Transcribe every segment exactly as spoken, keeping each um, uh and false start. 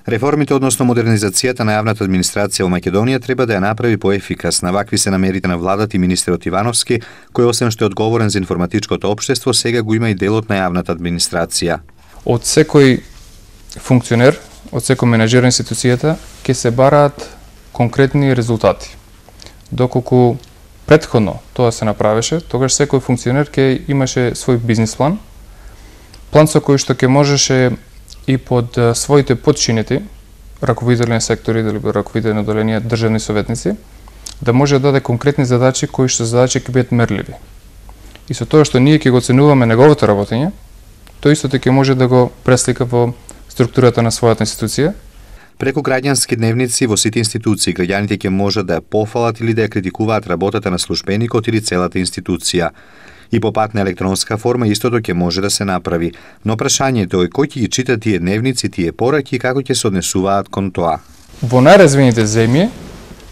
Реформите, односно модернизацијата на јавната администрација во Македонија треба да ја направи поефикасна. Вакви се намерите на владата и министерот Ивановски, кој освен што е одговорен за информатичкото општество, сега го има и делот на јавната администрација. Од секој функционер, од секој менеджер на институцијата, ќе се бараат конкретни резултати. Доколку претходно тоа се направеше, тогаш секој функционер ќе имаше свој бизнис план, план со кој што ќе можеше и под своите подчинети, раководители на сектори или раководители на одделенија, државни советници, да може да даде конкретни задачи кои што задачи ќе бидат мерливи. И со тоа што ние ќе го оценуваме неговото работење, тој истото ќе може да го преслика во структурата на својата институција. Преку граѓански дневници во сите институции, граѓаните ќе можат да ја пофалат или да ја критикуваат работата на службеникот или целата институција. И по пат на електронска форма истото ќе може да се направи. Но прашањето е кој ќе ги чита тие дневници, тие пораки и како ќе се однесуваат кон тоа. Во најразвиените земји,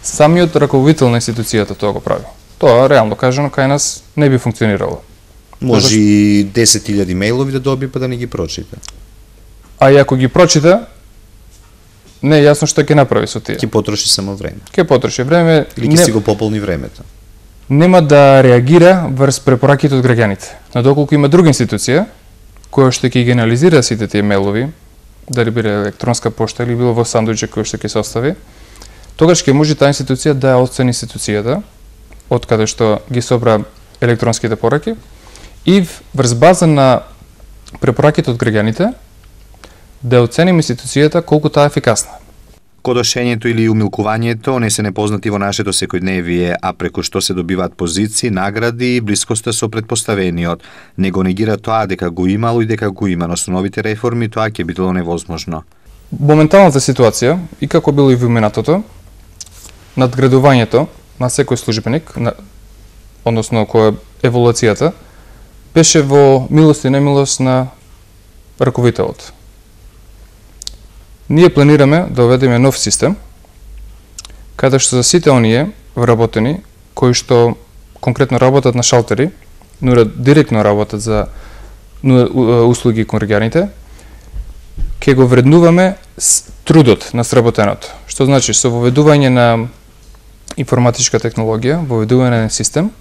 самиот раководител на институцијата тоа го прави. Тоа, реално кажано, кај нас не би функционирало. Може и десет илјади мејлови да доби па да не ги прочита. А и ако ги прочита, не е јасно што ќе направи со тие. Ќе потроши само време. Ќе потроши време. Или ќе не... си го пополни времето. Нема да реагира врз препораките од граѓаните. Но доколку има друга институција која што ќе ги анализира сите тие мејлови, дали биде електронска пошта или било во сандуиче кој што ќе се остави, тогаш ќе може таа институција да ја оцени институцијата од каде што ги собра електронските пораки и врз база на препораките од граѓаните да оценим институцијата колку таа е ефикасна. Кодошењето или умилкувањето не се непознати во нашето секојдневие, а преку што се добиваат позиции, награди и блискоста со претпоставениот. Не го негира тоа дека го имало и дека го има, но со новите реформи тоа ќе било невозможно. Моменталната ситуација, и како било и во минатото, надградувањето на секој службеник, на, односно која еволуцијата, беше во милост и немилост на раководителот. Ние планираме да уведеме нов систем, каде што за сите оние вработени, кои што конкретно работат на шалтери, но директно работат за услуги кон граѓаните, ќе го вреднуваме трудот на сработеното. Што значи, со воведување на информатичка технологија, воведување на систем,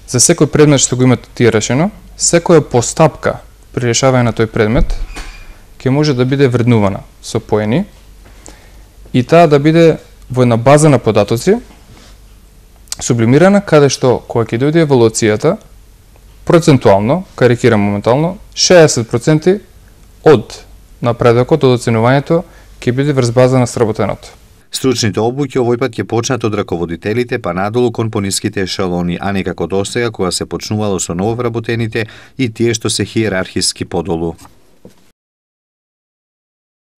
за секој предмет што го имате тие решено, секоја постапка при решавање на тој предмет, ќе може да биде вреднувана со поени и таа да биде во една база на податоци сублимирана, каде што кога ќе дојде еволуцијата, процентуално, карикирам моментално, шеесет проценти од напредокот, од оценувањето ќе биде врз база на сработеното. Стручните обуки овој пат ќе почнат од раководителите па надолу кон пониските ешелони, а не како досега кога се почнувало со нововработените и тие што се хиерархиски подолу.